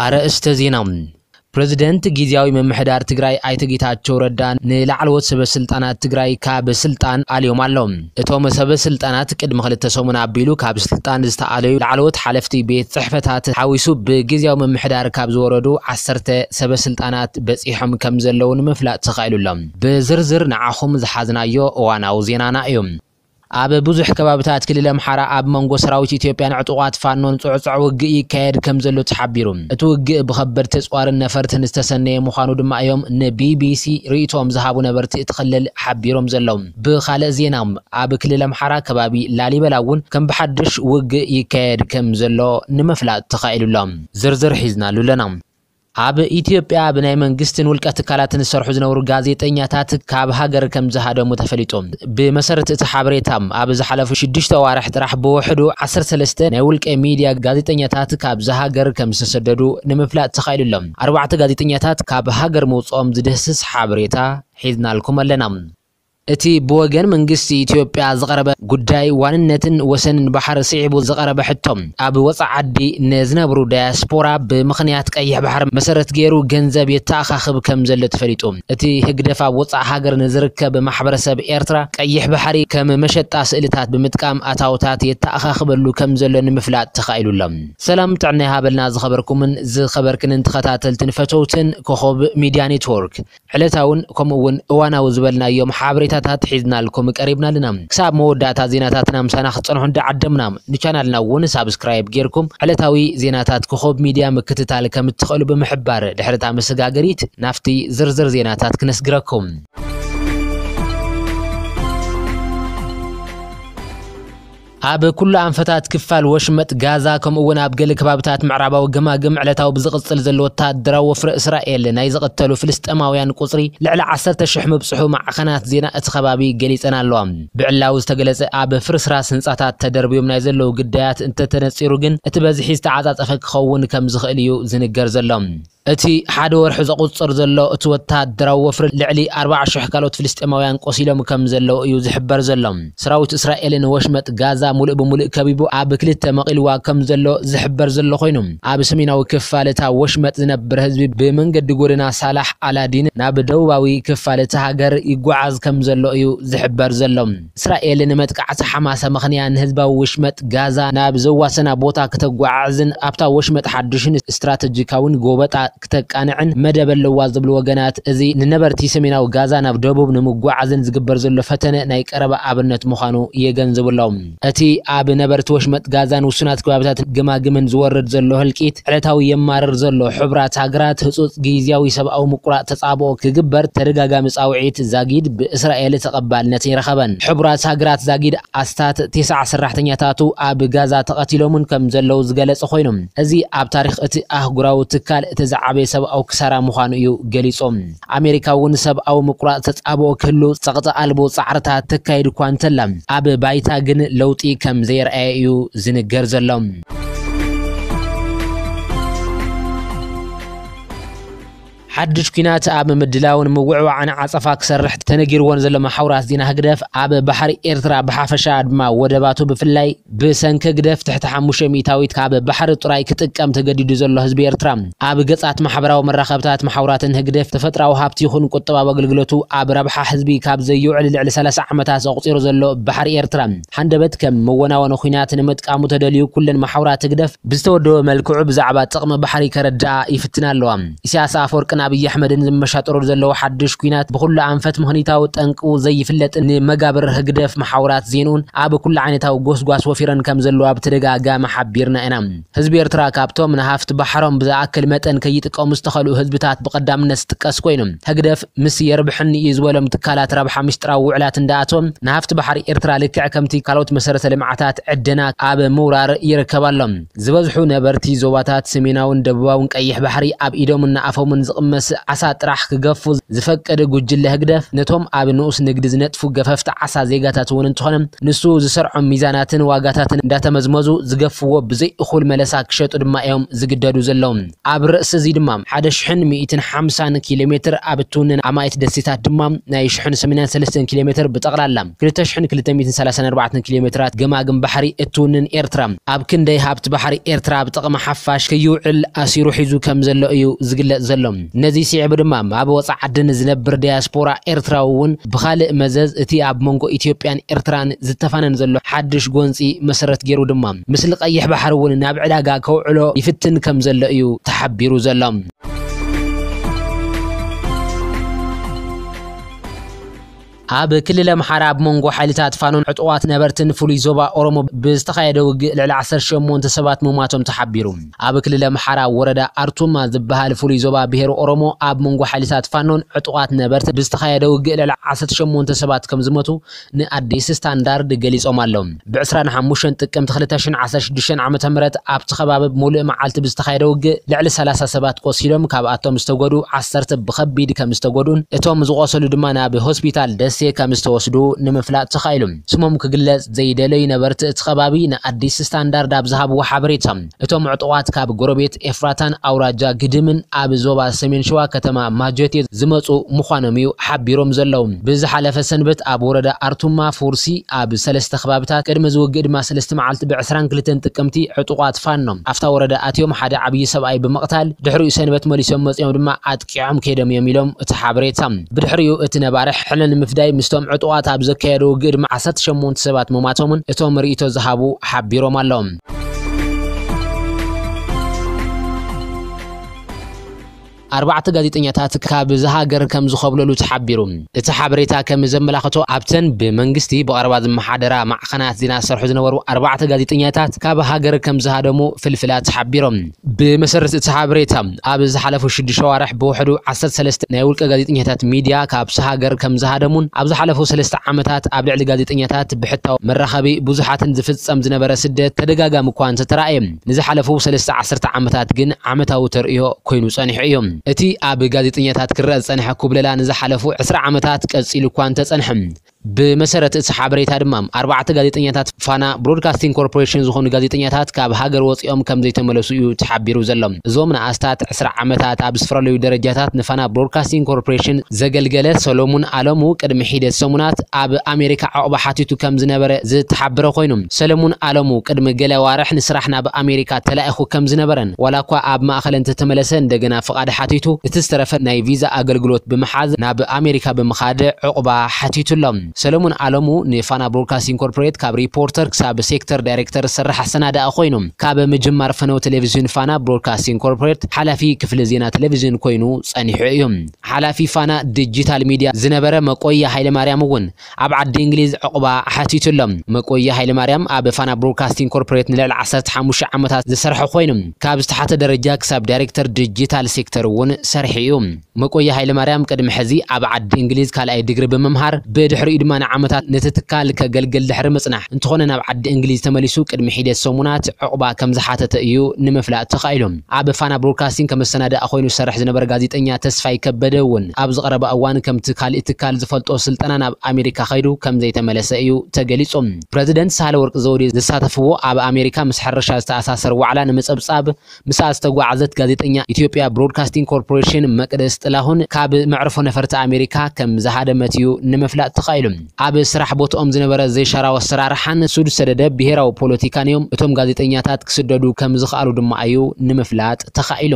ኣርእስተ ዜና። ፕሬዝደንት ግዝያዊ ምምሕዳር ትግራይ ኣይተ ጌታቸው ረዳ ንላዕለዎት ሰበ ስልጣናት ትግራይ ካብ ስልጣን ኣልዮም ኣሎ። እቶም ሰበ ስልጣናት ቅድሚ ክልተ ሰሙን ኣቢሉ ካብ ስልጣን ዝተኣለዩ ላዕለዎት ሓለፍቲ ቤት ጽሕፈታት ሓዊሱ ብግዝያዊ ምምሕዳር ካብ ዝወረዱ ዓሰርተ ሰበ ስልጣናት በጺሖም ከም ዘለዉ ንምፍላጥ ተኻኢሉ ኣሎ። ብዝርዝር ንዓኹም ዝሓዝናዮ እዋናዊ ዜናና እዩ። ኣብ ብዙሕ ከባብታት ክልል ኣምሓራ ኣብ መንጎ ሰራዊት ኢትዮጵያን ዕጡቓት ፋኖን ጽዑጽዕ ውግእ ይካየድ ከም ዘሎ ተሓቢሩ። እቲ ውግእ ብኸበድቲ ኣጽዋርን ነፈርትን ዝተሰነየ ምዃኑ ድማ እዮም ንቢቢሲ ርእይቶኦም ዝሃቡ ነበርቲ እቲ ክልል ሓቢሮም ዘለዉ። ብኻልእ ዜና፣ ኣብ ክልል ኣምሓራ ከባቢ ላሊበላ እውን ከም ብሓድሽ ውግእ ይካየድ ከም ዘሎ ንምፍላጥ ተኻኢሉ ኣሎ። ዝርዝር ሒዝናሉ ኣለና። ኣብ ኢትዮጵያ ብናይ መንግስትን ውልቀ ትካላትን ዝሰርሑ ዝነበሩ ጋዜጠኛታት ካብ ሃገር ከም ዝሃደሙ ተፈሊጡ። ብመሰረት እቲ ሓበሬታ፣ ኣብ ዝሓለፉ ሽዱሽተ ኣዋርሕ ጥራሕ ብውሕዱ ዓሰርተ ሰለስተ ናይ ውልቀ ሚድያ ጋዜጠኛታት ካብዚ ሃገር ከም ዝተሰደዱ ንምፍላጥ ተኻኢሉ ኣሎ። ኣርባዕተ ጋዜጠኛታት ካብ ሃገር ምውፅኦም ዝድህስስ ሓበሬታ ሒዝናልኩም ኣለና። እቲ ብወገን መንግስቲ ኢትዮጵያ ዝቐረበ ጉዳይ ዋንነትን ወሰንን ባሕሪ ስዒቡ ዝቐረበ ሕቶ፣ ኣብ ወጻኢ ዓዲ ንዝነብሩ ዳያስፖራ ብምኽንያት ቀይሕ ባሕሪ መሰረት ገይሩ ገንዘብ የተኣኻኽብ ከም ዘሎ ተፈሊጡ። እቲ ህግደፍ ኣብ ወጻኢ ሃገር ንዝርከብ ማሕበረሰብ ኤርትራ ቀይሕ ባሕሪ ከም መሸጣ ስእልታት ብምጥቃም ኣታውታት የተኣኻኽበሉ ከም ዘሎ ንምፍላጥ ተኻኢሉ ኣሎ። ሰላም ጥዕና ይሃበልና ዝኸበርኩምን ዝኸበርክንን ተኸታተልትን ፈተውትን ኮኸብ ሚድያ ኔትወርክ። ዕለታውን ከምኡ እውን እዋናዊ ዝበልናዮም ሓበሬታታት ሒዝናልኩም ቀሪብና ኣለና። ክሳብ መወዳእታ ዜናታትና ምሳና ክትጸንሑ እንዳዓደምና፣ ንቻናልና እውን ሳብስክራይብ ጌርኩም ዕለታዊ ዜናታት ኮኸብ ሚድያ ምክትታል ከም እትኽእሉ ብምሕባር፣ ድሕሪ እታ መሰጋገሪት ናብቲ ዝርዝር ዜናታት ክነስግረኩም። ኣብ ኩሉ ኣንፈታት ክፋል ወሽመጥ ጋዛ፣ ከምኡ እውን ኣብ ገለ ከባብታት ምዕራባዊ ገማግም ዕለታዊ ብዝቕጽል ዘሎ ወታደራዊ ወፍሪ እስራኤል፣ ናይ ዝቕተሉ ፍልስጤማውያን ቁጽሪ ልዕሊ ዓሰርተ ሽሕ ምብጽሑ ማዕኸናት ዜና እቲ ከባቢ ገሊጸን ኣለዋ። ብዕላዊ ዝተገለጸ ኣብ ፍርስራስ ህንጻታት ተደርብዮም ናይ ዘለዉ ግዳያት እንተተነጺሩ ግን፣ እቲ በዝሒ ዝተዓጻጸፈ ክኸውን ከም ዝኽእል እዩ ዝንገር ዘሎ። እቲ ሓደ ወርሒ ዘቑጽር ዘሎ እቲ ወታደራዊ ወፍሪ ልዕሊ ኣርባዓ ሽሕ ካልኦት ፍልስጤማውያን ቆሲሎም ከም ዘለዉ እዩ ዝሕበር ዘሎ። ሰራዊት እስራኤል ንወሽመጥ ጋዛ ሙሉእ ብሙሉእ ከቢቡ ኣብ ክልተ መቒልዋ ከም ዘሎ ዝሕበር ዘሎ ኮይኑ፣ ኣብ ሰሜናዊ ክፋል እታ ወሽመጥ ዝነብር ህዝቢ ብመንገዲ ጎደና ሳላሕ ኣላዲን ናብ ደቡባዊ ክፋል እታ ሃገር ይጓዓዝ ከም ዘሎ እዩ ዝሕበር ዘሎ። እስራኤል ንመጥቃዕቲ ሓማስ ኣመኽንያ ንህዝባዊ ወሽመጥ ጋዛ ናብ ዘዋሰና ቦታ ክተጓዓዕዝን ኣብታ ወሽመጥ ሓድሽን ስትራተጂካውን ጎበጣ ክተቃንዕን መደብ ኣለዋ ዝብሉ ወገናት፣ እዚ ንነበርቲ ሰሜናዊ ጋዛ ናብ ደቡብ ንምጓዓዝን ዝግበር ዘሎ ፈተነ ናይ ቀረባ ኣብነት ምዃኑ የገንዝቡ ኣለዉ። እቲ ኣብ ነበርቲ ወሽመጥ ጋዛን ውሱናት ከባቢታት ገማግምን ዝወርድ ዘሎ ህልቂት ዕለታዊ የማርር ዘሎ። ሕቡራት ሃገራት ህጹጽ ግዝያዊ ሰብኣዊ ምቁራጽ ተጻብኦ ክግበር ተደጋጋሚ ጻውዒት ዛጊድ ብእስራኤል ተቐባልነት ይረኸበን። ሕቡራት ሃገራት ዛጊድ ኣስታት ተስዓ ሰራሕተኛታቱ ኣብ ጋዛ ተቐቲሎምን ከም ዘለዉ ዝገለጸ ኮይኑ፣ እዚ ኣብ ታሪኽ እቲ ኣህጉራዊ ትካል እቲ ዝዓበየ ሰብኣዊ ክሳራ ምዃኑ እዩ ገሊጹ። ኣሜሪካ እውን ሰብኣዊ ምቁራጽ ተጻብኦ ክህሉ ጸቕጢ ኣልቦ ጻዕርታት ተካይድ እኳ እንተላ፣ ኣብ ባይታ ግን ለውጢ ከም ዘየርኣየ እዩ ዝንገር ዘሎ። ሓድሽ ኲናት ኣብ ምድላውን ምውዕዋዕን ዓጸፋ ክሰርሕ ተነጊርዎ ንዘሎ መሓውራት ዜና ህግደፍ፣ ኣብ ባሕሪ ኤርትራ ብሓፈሻ ድማ ወደባቱ ብፍላይ ብሰንኪ ህግደፍ ትሕቲ ሓሙሽተ ሚእታዊት ካብ ባሕሪ ጥራይ ክጥቀም ተገዲዱ ዘሎ ህዝቢ ኤርትራ፣ ኣብ ገጻት ማሕበራዊ መራኸብታት መሓውራትን ህግደፍ ተፈጥራዊ ሃብቲ ይኹን ቁጠባዊ ኣገልግሎቱ ኣብ ረብሓ ህዝቢ ካብ ዘየውዕል ልዕሊ ሰላሳ ዓመታት ኣቑጺሩ ዘሎ ባሕሪ ኤርትራ፣ ሃንደበት ከም መወናወኒ ኲናት ንምጥቃሙ ተደልዩ፣ ኩለን መሓውራት ህግደፍ ብዝተወደበ መልክዑ ብዛዕባ ጥቕሚ ባሕሪ ከረድኣ ይፍትና ኣለዋ። ኢሳያስ ኣፈወርቅን ኣብይ ኣሕመድን ዝመሻጠሩ ዘለዉ ሓድሽ ኲናት ብኹሉ ኣንፈት ምኽንያታዊ ጠንቁ ዘይፍለጥ ንመጋብር ህግደፍ መሓውራት ዜንኡን ኣብ ኩሉ ዓይነታዊ ጎስጓስ ወፊረን ከም ዘለዋ ብተደጋጋሚ ሓቢርና ኢና። ህዝቢ ኤርትራ ካብቶም ንሃፍቲ ባሕሮም ብዝኣክል መጠን ከይጥቀሙ ዝተኸልኡ ህዝብታት ብቐዳምነት ዝጥቀስ ኮይኑ፣ ህግደፍ ምስ የርብሕኒ እዩ ዝበሎም ትካላት ረብሓ ምስጢራዊ ውዕላት እንዳኣተወ ንሃፍቲ ባሕሪ ኤርትራ ልክዕ ከምቲ ካልኦት መሰረተ ልምዓታት ዕደና ኣብ ምውራር ይርከብ ኣሎ። ዝበዝሑ ነበርቲ ዞባታት ሰሜናውን ደቡባውን ቀይሕ ባሕሪ ኣብ ኢዶምን ንኣፎምን ዝቕመ መስ ዓሳ ጥራሕ ክገፉ ዝፈቅድ ጉጅለ ህግደፍ፣ ነቶም ኣብ ንኡስ ንግዲ ዝነጥፉ ገፈፍቲ ዓሳ ዜጋታት እውን እንተኾነ፣ ንሱ ዝሰርዖም ሚዛናትን ዋጋታትን እንዳተመዝመዙ ዝገፍዎ ብዘይ እኹል መለሳ ክሸጡ ድማ እዮም ዝግደዱ ዘለዉ። ኣብ ርእሲ እዚ ድማ ሓደ ሽሕን ሚእትን ሓምሳን ኪሎ ሜትር ኣብ እትውንን ኣማኢት ደሴታት ድማ ናይ ሽሕን ሰማንያን ሰለስተን ኪሎ ሜትር ብጠቕላላ ክልተ ሽሕን ክልተ ሚእትን ሰላሳን ኣርባዕተን ኪሎ ሜትራት ገማግም ባሕሪ እትውንን ኤርትራ፣ ኣብ ክንደይ ሃብቲ ባሕሪ ኤርትራ ኣብ ጥቕሚ ሓፋሽ ከይውዕል ኣሲሩ ሒዙ ከም ዘሎ እዩ ዝግለጽ ዘሎ። ነዚ ስዒቡ ድማ ኣብ ወጻኢ ዓዲ ንዝነብር ዲያስፖራ ኤርትራዊ እውን ብኻልእ መዘዝ እቲ ኣብ መንጎ ኢትዮጵያን ኤርትራን ዝተፋነን ዘሎ ሓድሽ ጎንጺ መሰረት ገይሩ ድማ፣ ምስሊ ቀይሕ ባሕሪ እውን ናብ ዕዳጋ ከውዕሎ ይፍትን ከም ዘሎ እዩ ተሓቢሩ ዘሎ። ኣብ ክልል ኣምሓራ ኣብ መንጎ ሓይልታት ፋኖን ዕጡቓት ነበርትን ፍሉይ ዞባ ኦሮሞ ብዝተኻየደ ውግእ ልዕሊ ዓሰርተ ሸሞንተ ሰባት ምሟቶም ተሓቢሩ። ኣብ ክልል ኣምሓራ ወረዳ ኣርቱማ ዝበሃል ፍሉይ ዞባ ብሄር ኦሮሞ ኣብ መንጎ ሓይልታት ፋኖን ዕጡቓት ነበርትን ብዝተኻየደ ውግእ ልዕሊ ዓሰርተ ሸሞንተ ሰባት ከም ዝሞቱ ንኣዲስ ስታንዳርድ ገሊጾም ኣለዉ። ብ ዕስራን ሓሙሽተን ጥቅምቲ ክልተ ሽሕን ዓሰርተ ሽዱሽተን ዓመተ ምህረት ኣብቲ ከባቢ ሙሉእ መዓልቲ ብዝተኻየደ ውግእ ልዕሊ ሰላሳ ሰባት ቆሲሎም፣ ካብኣቶም ዝተጎድኡ ዓሰርተ ብኸቢድ ከም ዝተጎድኡን እቶም ዝቆሰሉ ድማ ናብ ሆስፒታል ደሴ ከም ዝተወስዱ ንምፍላጥ ተኻኢሉ። ስሞም ክግለጽ ዘይደለዩ ነበርቲ እቲ ከባቢ ንኣዲስ ስታንዳርድ ኣብ ዝሃብዎ ሓበሬታ፣ እቶም ዕጡቓት ካብ ጎረቤት ኤፍራታን ኣውራጃ ግድምን ኣብ ዞባ ሰሜን ሸዋ ከተማ ማጀቴ ዝመጹ ምዃኖም እዩ ሓቢሮም ዘለዉ። ብዝሓለፈ ሰንበት ኣብ ወረዳ ኣርቱማ ፉርሲ ኣብ ሰለስተ ከባብታት ቅድሚ ዝውግእ ድማ ሰለስተ መዓልቲ ብ ዕስራን ክልተን ጥቅምቲ ዕጡቓት ፋኖ ኣብታ ወረዳ ኣትዮም ሓደ ዓብዪ ሰብኣይ ብምቕታል ድሕሪኡ ሰንበት መሊሶም መጺኦም ድማ ኣጥቂዖም ከይዶም እዮም ኢሎም እቲ ሓበሬታ። ብድሕሪኡ እቲ ነባሪ ሕነ ንምፍዳይ ምስቶም ዕጡቓት ኣብ ዘካየዶ ውግእ ድማ ዓሰርተ ሸሞንተ ሰባት ምሟቶምን እቶም ርእይቶ ዝሃቡ ሓቢሮም ኣለዉ። ኣርባዕተ ጋዜጠኛታት ካብ እዛ ሃገር ከም ዝኾብለሉ ተሓቢሩ። እቲ ሓበሬታ ከም ዘመላኽቶ ኣብተን ብመንግስቲ ብቐረባ ዝመሓደራ ማዕኸናት ዜና ዝሰርሑ ዝነበሩ ኣርባዕተ ጋዜጠኛታት ካብ ሃገር ከም ዝሃደሙ ፍልፍላት ሓቢሮም። ብመሰረት እቲ ሓበሬታ ኣብ ዝሓለፉ ሽዱሽተ ኣዋርሕ ብውሕዱ ዓሰርተ ሰለስተ ናይ ውልቀ ጋዜጠኛታት ሚድያ ካብቲ ሃገር ከም ዝሃደሙን ኣብ ዝሓለፉ ሰለስተ ዓመታት ኣብ ልዕሊ ጋዜጠኛታት ብሕታዊ መራኸቢ ብዙሓትን ዝፍጸም ዝነበረ ስደት ተደጋጋሚ እኳ እንተተራእየ፣ ንዝሓለፉ ሰለስተ ዓሰርተ ዓመታት ግን ዓመታዊ ተርእዮ ኮይኑ ጸኒሑ እዩ። እቲ ኣብ ጋዜጠኛታት ክረአ ዝጸንሐ ኩብለላ ንዝሓለፉ ዕስራ ዓመታት ቀጺሉ እኳ እንተጸንሐ፣ ብመሰረት እቲ ሓበሬታ ድማ ኣርባዕተ ጋዜጠኛታት ፋና ብሮድካስቲንግ ኮርፖሬሽን ዝኾኑ ጋዜጠኛታት ካብ ሃገር ወጺኦም ከም ዘይተመለሱ እዩ ተሓቢሩ ዘሎ። እዞም ንኣስታት ዕስራ ዓመታት ኣብ ዝተፈላለዩ ደረጃታት ንፋና ብሮድካስቲንግ ኮርፖሬሽን ዘገልገለ ሰሎሙን ኣለሙ ቅድሚ ሒደት ሰሙናት ኣብ ኣሜሪካ ዕቑባ ሓቲቱ ከም ዝነበረ ዝተሓበረ ኮይኑ፣ ሰለሙን ኣለሙ ቅድሚ ገለ ኣዋርሕ ንስራሕ ናብ ኣሜሪካ ተላኢኹ ከም ዝነበረን ዋላ እኳ ኣብ ማእኸል እንተተመለሰ እንደገና ፍቓድ ሓቲቱ እቲ ዝተረፈ ናይ ቪዛ ኣገልግሎት ብምሓዝ ናብ ኣሜሪካ ብምኻድ ዕቑባ ሓቲቱ ኣሎ። ሰለሙን ኣለሙ ንፋና ብሮድካስቲንግ ኮርፖሬት ካብ ሪፖርተር ክሳብ ሴክተር ዳይሬክተር ዝሰርሕ ኣሰናዳኢ ኮይኑ፣ ካብ ምጅማር ፈነው ቴሌቪዥን ፋና ብሮድካስቲንግ ኮርፖሬት ሓላፊ ክፍሊ ዜና ቴሌቪዥን ኮይኑ ጸኒሑ እዩ። ሓላፊ ፋና ዲጂታል ሚድያ ዝነበረ መቆያ ሃይለማርያም እውን ኣብ ዓዲ እንግሊዝ ዕቑባ ሓቲቱ ኣሎ። መቆያ ሃይለማርያም ኣብ ፋና ብሮድካስቲንግ ኮርፖሬት ንልዕሊ ዓሰርተ ሓሙሽተ ዓመታት ዝሰርሐ ኮይኑ፣ ካብ ዝተሓተ ደረጃ ክሳብ ዳይሬክተር ዲጂታል ሴክተር እውን ሰርሑ እዩ። መቆያ ሃይለማርያም ቅድሚ ሕዚ ኣብ ዓዲ እንግሊዝ ካልኣይ ዲግሪ ብምምሃር፣ ብድሕሪኡ ድማ ንዓመታት ነቲ ትካል ከገልግል ድሕሪ ምጽናሕ፣ እንተኾነ ናብ ዓዲ እንግሊዝ ተመሊሱ ቅድሚ ሒደት ሰሙናት ዕቑባ ከም ዝሓተተ እዩ ንምፍላጥ ተኻኢሉ። ኣብ ፋና ብሮድካስቲንግ ከም ኣሰናዳኢ ኮይኑ ዝሰርሕ ዝነበረ ጋዜጠኛ ተስፋይ ከበደ እውን ኣብዚ ቀረባ እዋን ከምቲ ካልእ ትካል ዝፈልጦ ስልጠና ናብ ኣሜሪካ ከይዱ ከም ዘይተመለሰ እዩ ተገሊጹ። ፕረዚደንት ሳህለወርቅ ዘውዴ ዝሳተፍዎ ኣብ ኣሜሪካ ምስ ሕርሻ ዝተኣሳሰር ዋዕላ ንምጽብጻብ ምስኣ ዝተጓዓዘት ጋዜጠኛ ኢትዮጵያ ብሮድካስቲንግ ኮርፖሬሽን መቅደስ ጥላሁን ካብ መዕርፎ ነፈርቲ ኣሜሪካ ከም ዝሃደመት እዩ ንምፍላጥ ተኻኢሉ። ኣብ ስራሕ ቦትኦም ዝነበረ ዘይሻራዊ ኣሰራርሓን ሱድ ሰደደ ብሄራዊ ፖለቲካን እዮም እቶም ጋዜጠኛታት ክስደዱ ከም ዝኸኣሉ ድማ እዩ ንምፍላጥ ተኻኢሉ።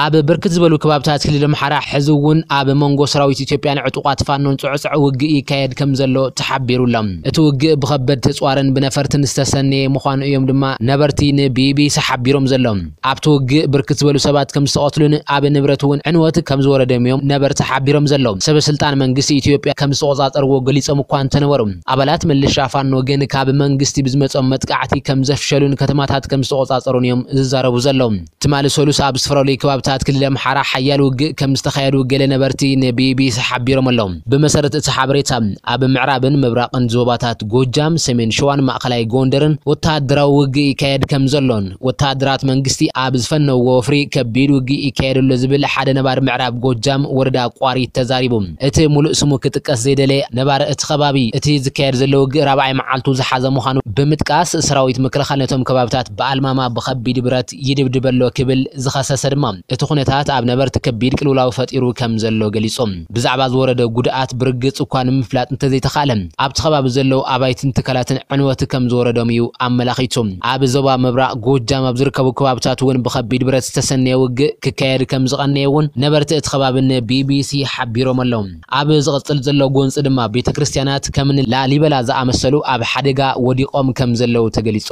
ኣብ ብርክት ዝበሉ ከባብታት ክልል ኣምሓራ ሕዚ እውን ኣብ መንጎ ሰራዊት ኢትዮጵያን ዕጡቓት ፋኖን ጽዕጽዕ ውግእ ይካየድ ከም ዘሎ ተሓቢሩ ኣሎ። እቲ ውግእ ብኸበድ ተጽዋርን ብነፈርትን ዝተሰነየ ምዃኑ እዮም ድማ ነበርቲ ንቢቢሲ ሓቢሮም ዘለዉ። ኣብቲ ውግእ ብርክት ዝበሉ ሰባት ከም ዝተቐትሉን ኣብ ንብረት እውን ዕንወት ከም ዝወረደም እዮም ነበርቲ ሓቢሮም ዘለዉ። ሰበ ስልጣን መንግስቲ ኢትዮጵያ ከም ዝተቖጻጸርዎ ገሊጾም እኳ እንተነበሩ፣ ኣባላት ምልሻ ፋኖ ግን ካብ መንግስቲ ብዝመጾም መጥቃዕቲ ከም ዘፍሸሉን ከተማታት ከም ዝተቖጻጸሩን እዮም ዝዛረቡ ዘለዉ። ትማሊ ሰሉስ ኣብ ዝተፈላለዩ ከባቢ ታት ክልል ኣምሓራ ሓያል ውግእ ከም ዝተኻየዱ ገለ ነበርቲ ንቢቢሲ ሓቢሮም ኣለዉ። ብመሰረት እቲ ሓበሬታ፣ ኣብ ምዕራብን ምብራቕን ዞባታት ጎጃም፣ ሰሜን ሸዋን ማእኸላይ ጎንደርን ወተሃደራዊ ውግእ ይካየድ ከም ዘሎን ወተሃደራት መንግስቲ ኣብ ዝፈነውዎ ወፍሪ ከቢድ ውግእ ይካየድ ኣሎ ዝብል ሓደ ነባሪ ምዕራብ ጎጃም ወረዳ ቋሪት ተዛሪቡ። እቲ ሙሉእ ስሙ ክጥቀስ ዘይደለየ ነባሪ እቲ ከባቢ፣ እቲ ዝካየድ ዘሎ ውግእ ራብዓይ መዓልቱ ዝሓዘ ምዃኑ ብምጥቃስ፣ ሰራዊት ምክልኻል ነቶም ከባብታት ብኣልማማ ብኸቢድ ብረት ይድብድብ ኣሎ ክብል ዝኸሰሰ ድማ፣ እቲ ኩነታት ኣብ ነበርቲ ከቢድ ቅልውላው ፈጢሩ ከም ዘሎ ገሊጹ። ብዛዕባ ዝወረደ ጉድኣት ብርግጽ እኳ ንምፍላጥ እንተዘይተኻእለ፣ ኣብቲ ከባቢ ዘለዉ ኣባይትን ትካላትን ዕንወት ከም ዝወረዶም እዩ ኣመላኺቱ። ኣብ ዞባ ምብራቕ ጎጃም ኣብ ዝርከቡ ከባብታት እውን ብኸቢድ ብረት ዝተሰነየ ውግእ ክካየድ ከም ዝቐነየ እውን ነበርቲ እቲ ከባቢ ንቢቢሲ ሓቢሮም ኣለዉ። ኣብ ዝቕጽል ዘሎ ጎንጺ ድማ ቤተ ክርስቲያናት ከም ላሊበላ ዝኣመሰሉ ኣብ ሓደጋ ወዲቖም ከም ዘለዉ ተገሊጹ።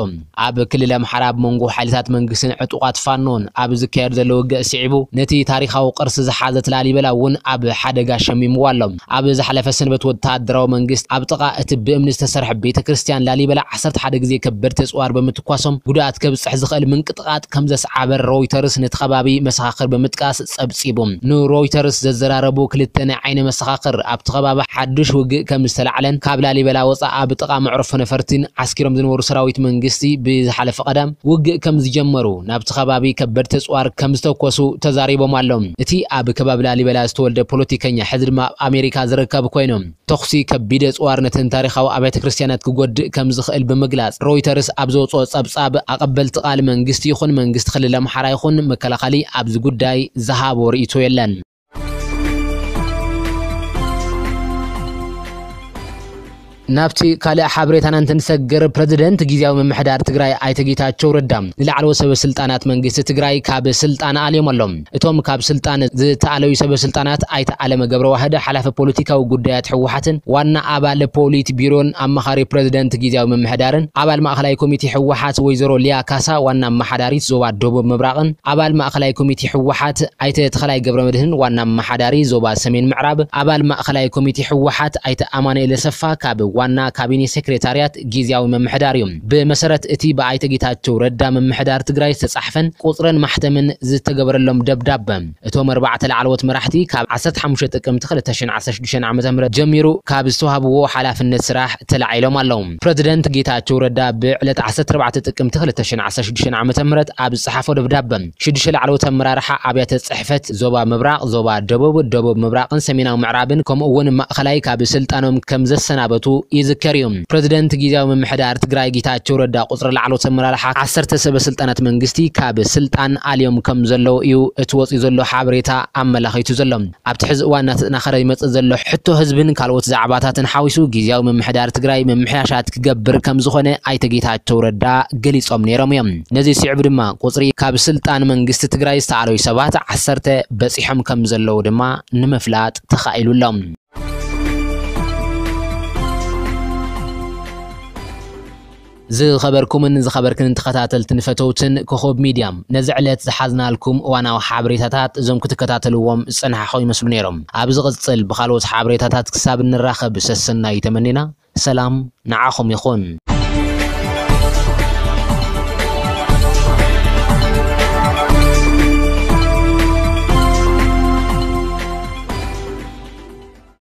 ኣብ ክልል ኣምሓራ ኣብ መንጎ ሓይልታት መንግስትን ዕጡቓት ፋኖን ኣብ ዝካየድ ዘሎ ውግእ ስዒቡ፣ ነቲ ታሪኻዊ ቅርሲ ዝሓዘት ላሊበላ እውን ኣብ ሓደጋ ሸሚምዋ ኣሎ። ኣብ ዝሓለፈ ሰንበት ወተሃደራዊ መንግስት ኣብ ጥቓ እቲ ብእምኒ ዝተሰርሐ ቤተ ክርስቲያን ላሊበላ ዓሰርተ ሓደ ግዜ ከበድቲ ኣጽዋር ብምትኳሶም ጉድኣት ከብጽሕ ዝኽእል ምንቅጥቓጥ ከም ዘስዓበ ሮይተርስ ነቲ ከባቢ መሰኻኽር ብምጥቃስ ጸብጺቡ። ንሮይተርስ ዘዘራረቡ ክልተ ናይ ዓይኒ መሰኻኽር፣ ኣብቲ ከባቢ ሓድሽ ውግእ ከም ዝተላዕለን ካብ ላሊበላ ወጻኢ ኣብ ጥቓ መዕርፎ ነፈርቲን ዓስኪሮም ዝነበሩ ሰራዊት መንግስቲ ብዝሓለፈ ቀዳም ውግእ ከም ዝጀመሩ፣ ናብቲ ከባቢ ከበድቲ ኣጽዋር ከም ዝተኮሱ ተዛሪቦም ኣለዉ። እቲ ኣብ ከባቢ ላሊበላ ዝተወልደ ፖለቲከኛ፣ ሕዚ ድማ ኣብ ኣሜሪካ ዝርከብ ኮይኑ፣ ተኹሲ ከቢድ ኣጽዋር ነተን ታሪኻዊ ኣብያተ ክርስቲያናት ክጎድእ ከም ዝኽእል ብምግላጽ፣ ሮይተርስ ኣብ ዘውጽኦ ጸብጻብ፣ ኣቐበልቲ ቃል መንግስቲ ይኹን መንግስቲ ክልል ኣምሓራ ይኹን መከላኸሊ ኣብዚ ጉዳይ ዝሃቦ ርእይቶ የለን። ናብቲ ካልእ ሓበሬታና እንትንሰግር፣ ፕረዚደንት ግዝያዊ ምምሕዳር ትግራይ ኣይተ ጌታቸው ረዳ ንላዕለዎት ሰበ ስልጣናት መንግስቲ ትግራይ ካብ ስልጣን ኣልዮም ኣለዉ። እቶም ካብ ስልጣን ዝተኣለዩ ሰበ ስልጣናት ኣይተ ኣለመ ገብረዋህድ፣ ሓላፊ ፖለቲካዊ ጉዳያት ህወሓትን ዋና ኣባል ፖሊት ቢሮን ኣማኻሪ ፕረዚደንት ግዝያዊ ምምሕዳርን ኣባል ማእኸላይ ኮሚቴ ህወሓት ወይዘሮ ሊያ ካሳ ዋና ኣመሓዳሪት ዞባ ደቡብ ምብራቕን ኣባል ማእኸላይ ኮሚቴ ህወሓት ኣይተ ተኸላይ ገብረመድህን ዋና ኣመሓዳሪ ዞባ ሰሜን ምዕራብ ኣባል ማእኸላይ ኮሚቴ ህወሓት ኣይተ ኣማኑኤል ኣሰፋ ካብ ዋና ካቢኔ ሴክሬታርያት ግዝያዊ ምምሕዳር እዩ። ብመሰረት እቲ ብኣይተ ጌታቸው ረዳ ምምሕዳር ትግራይ ዝተጻሕፈን ቁጽርን ማሕተምን ዝተገበረሎም ደብዳበ፣ እቶም ኣርባዕተ ላዕለዎት መራሕቲ ካብ ዓሰርተ ሓሙሽተ ጥቅምቲ ክልተ ሽሕን ዓሰርተ ሽዱሽተን ዓመተ ምህረት ጀሚሩ ካብ ዝተዋህብዎ ሓላፍነት ስራሕ ተላዒሎም ኣለዉ። ፕረዚደንት ጌታቸው ረዳ ብዕለት ዓሰርተ ኣርባዕተ ጥቅምቲ ክልተ ሽሕን ዓሰርተ ሽዱሽተን ዓመተ ምህረት ኣብ ዝጸሓፎ ደብዳበ፣ ሽዱሽተ ላዕለዎት ኣመራርሓ ኣብያተ ጽሕፈት ዞባ ምብራቕ፣ ዞባ ደቡብ፣ ደቡብ ምብራቕን ሰሜናዊ ምዕራብን ከምኡ እውን ማእኸላይ ካብ ስልጣኖም ከም ዘሰናበቱ ይዝከር እዩ። ፕረዚደንት ግዝያዊ ምምሕዳር ትግራይ ጌታቸው ረዳ ቁጽሪ ላዕለዎት ኣመራርሓ ዓሰርተ ሰበ ስልጣናት መንግስቲ ካብ ስልጣን ኣልዮም ከም ዘለዉ እዩ እቲ ወፂኡ ዘሎ ሓበሬታ ኣመላኺቱ ዘሎ። ኣብቲ ሕዚ እዋን እናተጠናኸረ ይመፅእ ዘሎ ሕቶ ህዝብን ካልኦት ዛዕባታትን ሓዊሱ ግዝያዊ ምምሕዳር ትግራይ ምምሕያሻት ክገብር ከም ዝኾነ ኣይተ ጌታቸው ረዳ ገሊፆም ነይሮም እዮም። ነዚ ስዕቡ ድማ ቁፅሪ ካብ ስልጣን መንግስቲ ትግራይ ዝተኣለዩ ሰባት ዓሰርተ በፂሖም ከም ዘለዉ ድማ ንምፍላጥ ተኻኢሉ ኣሎ። ዝኸበርኩምን ዝኸበርክን ተኸታተልትን ፈተውትን ኮኾብ ሚድያ፣ ነዚ ዕለት ዝሓዝናልኩም እዋናዊ ሓበሬታታት እዞም ክትከታተልዎም ዝጸናሕኹም ይመስሉ ነይሮም። ኣብ ዝቕጽል ብኻልኦት ሓበሬታታት ክሳብ እንራኸብ ሰሰናዩ ተመኒና፣ ሰላም ንዓኹም ይኹን።